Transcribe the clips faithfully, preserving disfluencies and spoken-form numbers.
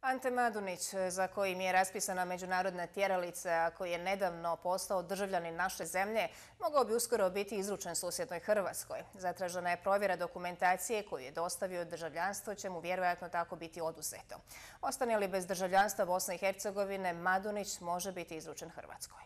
Ante Madunić, za kojim je raspisana međunarodna tjeralica, a koji je nedavno postao državljanin naše zemlje, mogao bi uskoro biti izručen susjednoj Hrvatskoj. Zatražena je provjera dokumentacije koju je dostavio državljanstvo, će mu vjerojatno tako biti oduzeto. Ostane li bez državljanstva Bosne i Hercegovine, Madunić može biti izručen Hrvatskoj.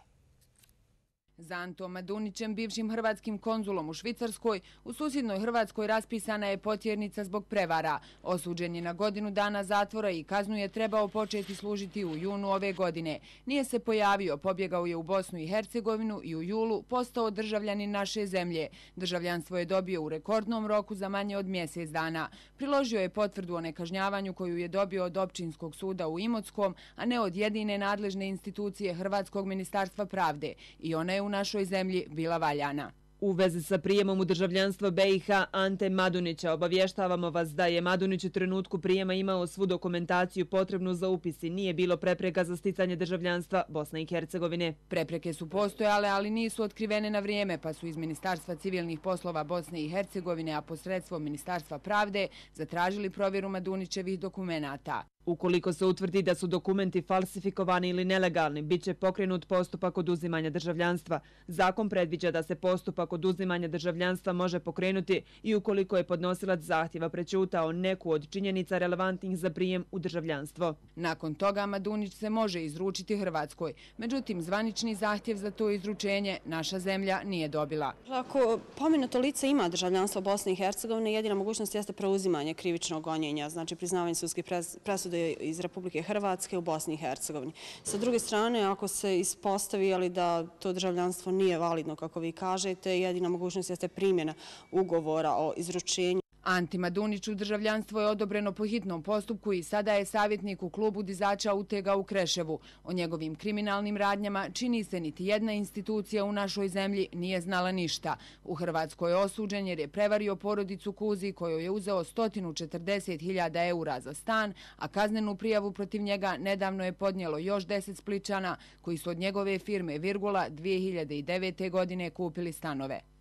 Za Antom Madunićem, bivšim hrvatskim konzulom u Švicarskoj, u susjednoj Hrvatskoj raspisana je potjernica zbog prevara. Osuđen je na godinu dana zatvora i kaznu je trebao početi služiti u junu ove godine. Nije se pojavio, pobjegao je u Bosnu i Hercegovinu i u julu postao državljanin naše zemlje. Državljanstvo je dobio u rekordnom roku za manje od mjesec dana. Priložio je potvrdu o nekažnjavanju koju je dobio od Općinskog suda u Imotskom, a ne od jedine nadležne institucije Hrvatskog ministarstva pravde. I ona je u našoj zemlji bila valjana. U vezi sa prijemom u državljanstvo B i H Ante Madunića obavještavamo vas da je Madunić u trenutku prijema imao svu dokumentaciju potrebnu za upis i nije bilo prepreka za sticanje državljanstva Bosne i Hercegovine. Prepreke su postojale, ali nisu otkrivene na vrijeme, pa su iz Ministarstva civilnih poslova Bosne i Hercegovine, a posredstvom Ministarstva pravde, zatražili provjeru Madunićevih dokumenata. Ukoliko se utvrdi da su dokumenti falsifikovani ili nelegalni, bit će pokrenut postupak oduzimanja državljanstva. Zakon predviđa da se postupak oduzimanja državljanstva može pokrenuti i ukoliko je podnosilac zahtjeva prećutao neku od činjenica relevantnih za prijem u državljanstvo. Nakon toga Madunić se može izručiti Hrvatskoj. Međutim, zvanični zahtjev za to izručenje naša zemlja nije dobila. Ako pomenuto lice ima državljanstvo Bosne i Hercegovine, jedina mogućnost jeste preuzimanje krivičnog gonjenja, znači priznavanje sudskih presuda iz Republike Hrvatske u Bosni i Hercegovini. Sa druge strane, ako se ispostavi da to državljanstvo nije validno, kako vi kažete, jedina mogućnost jeste primjena ugovora o izručenju. Anti Maduniću državljanstvo je odobreno po hitnom postupku i sada je savjetnik u klubu dizača utega u Kreševu. O njegovim kriminalnim radnjama čini se niti jedna institucija u našoj zemlji nije znala ništa. U Hrvatskoj je osuđen jer je prevario porodicu Kuzi kojoj je uzeo sto četrdeset hiljada eura za stan, a kaznenu prijavu protiv njega nedavno je podnijelo još deset Splićana koji su od njegove firme Virgula dvije hiljade devete. godine kupili stanove.